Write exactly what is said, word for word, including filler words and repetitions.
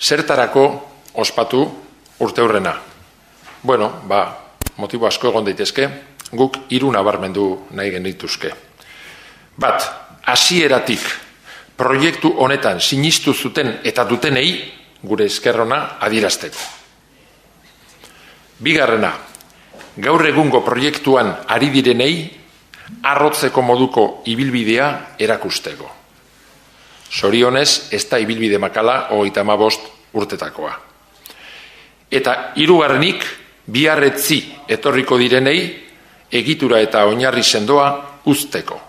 Zertarako ospatu urteurrena? Bueno, ba, motibo asko egon daitezke, guk hiru nabarmendu nahi genituzke. Bat, hasieratik proiektu honetan sinistu zuten eta dutenei gure eskerrona adierazteko. Bigarrena, gaur egungo proiektuan ari direnei arrotzeko moduko ibilbidea erakusteko. Zorionez, ez da ibilbide makala hogeita hamabost urtetakoa. Eta hirugarrenik, biharretzi etorriko direnei egitura eta oinarri sendoa uzteko.